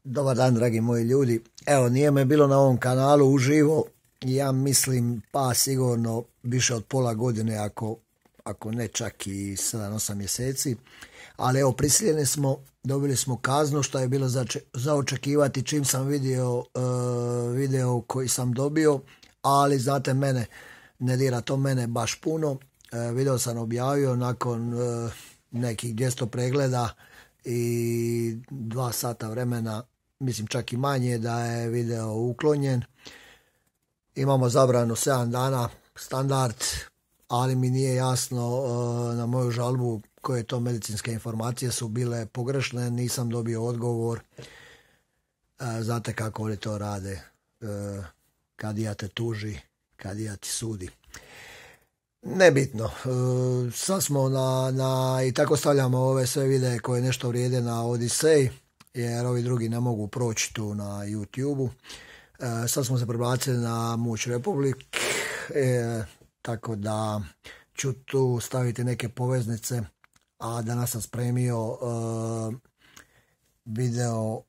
Dobar dan, dragi moji ljudi. Evo, nije me bilo na ovom kanalu uživo, ja mislim pa sigurno više od pola godine, ako ne čak i 7-8 mjeseci. Ali evo, prisiljeni smo, dobili smo kaznu, što je bilo za očekivati čim sam vidio video koji sam dobio, ali znate mene, ne dira to mene baš puno. Video sam objavio nakon nekih 200 pregleda i 2 sata vremena, mislim čak i manje, da je video uklonjen. Imamo zabranu 7 dana, standard, ali mi nije jasno na moju žalbu koje to medicinske informacije su bile pogrešne, nisam dobio odgovor. Znate kako oni to rade, kadija te tuži, kadija ti sudi. Nebitno, sad smo i tako stavljamo ove sve videe koje nešto vrijede na Odisej, jer ovi drugi ne mogu proći tu na YouTube-u. Sad smo se prebacili na Muć Republic, tako da ću tu staviti neke poveznice, a danas sam spremio video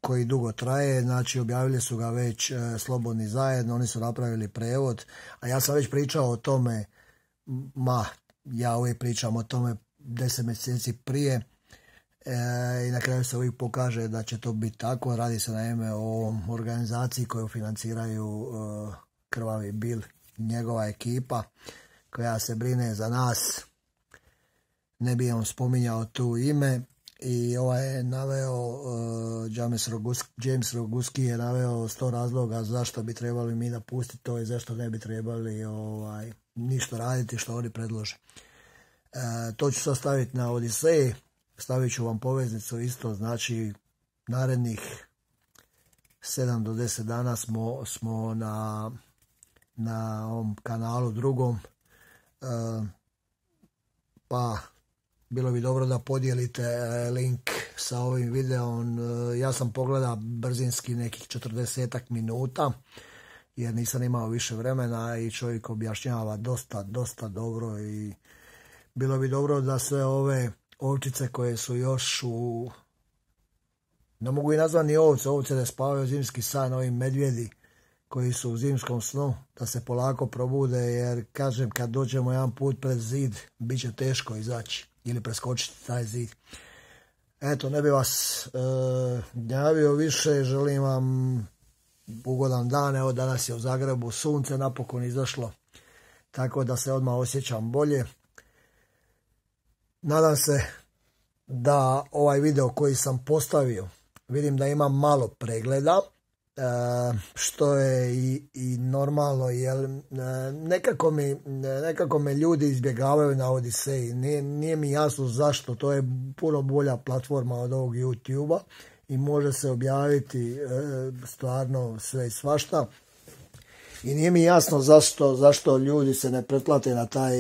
koji dugo traje, znači objavili su ga već Slobodni zajedno, oni su napravili prevod, a ja sam već pričao o tome, ja uvijek pričam o tome 10 mjeseci prije, i na kraju se uvijek pokaže da će to biti tako. Radi se naime o organizaciji koju financiraju Krvavi Bil, njegova ekipa koja se brine za nas. Ne bi on spominjao tu ime. I ovaj je naveo, James Roguski je naveo 100 razloga zašto bi trebali mi napustiti to i zašto ne bi trebali ništa raditi što oni predlože. To ću sad staviti na Odisej, stavit ću vam poveznicu isto, znači narednih 7 do 10 dana smo na ovom kanalu drugom, pa bilo bi dobro da podijelite link sa ovim videom. Ja sam pogledao brzinski nekih 40 minuta, jer nisam imao više vremena i čovjek objašnjava dosta dobro i bilo bi dobro da sve ove ovčice koje su još ne mogu i nazvati ni ovce da spavaju zimski san, ovi medvjedi koji su u zimskom snu, da se polako probude, jer kažem, kad dođemo jedan put pred zid, bit će teško izaći ili preskočiti taj zid. Eto, ne bi vas gnjavio više, želim vam ugodan dan. Evo, danas je u Zagrebu sunce napokon izašlo, tako da se odmah osjećam bolje. Nadam se da ovaj video koji sam postavio, vidim da ima malo pregleda, što je i normalno, jer nekako me ljudi izbjegavaju na Odiseji. Nije mi jasno zašto, to je puno bolja platforma od ovog YouTube-a i može se objaviti stvarno sve i svašta. I nije mi jasno zašto ljudi se ne pretplate na taj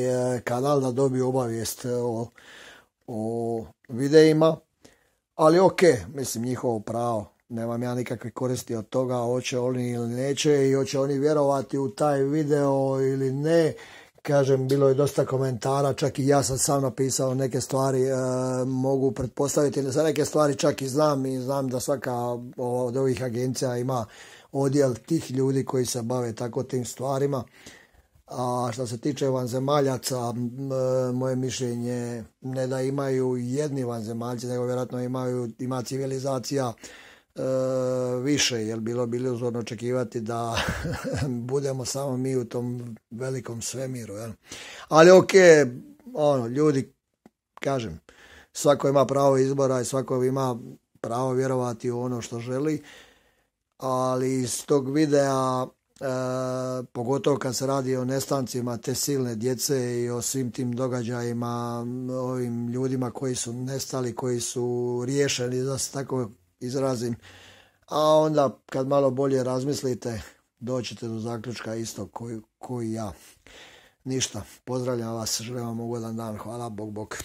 kanal da dobiju obavijest o videima, ali ok, mislim, njihovo pravo. Nemam ja nikakve koristi od toga, hoće oni ili neće i hoće oni vjerovati u taj video ili ne. Kažem, bilo je dosta komentara, čak i ja sam napisao neke stvari, mogu pretpostaviti, za neke stvari čak i znam da svaka od ovih agencija ima odjel tih ljudi koji se bave tako tim stvarima. A što se tiče vanzemaljaca, moje mišljenje ne da imaju jedni vanzemaljci, nego vjerojatno ima civilizacija više, jer bilo bi iluzorno očekivati da budemo samo mi u tom velikom svemiru, jel? Ali ok, ljudi, kažem, svako ima pravo izbora i svako ima pravo vjerovati u ono što želi, ali iz tog videa, pogotovo kad se radi o nestancima te silne djece i o svim tim događajima, ovim ljudima koji su nestali, koji su riješeni, da se tako izrazim, a onda kad malo bolje razmislite, doćete do zaključka isto koji ja. Ništa, pozdravljam vas, želim vam ugodan dan, hvala, bok.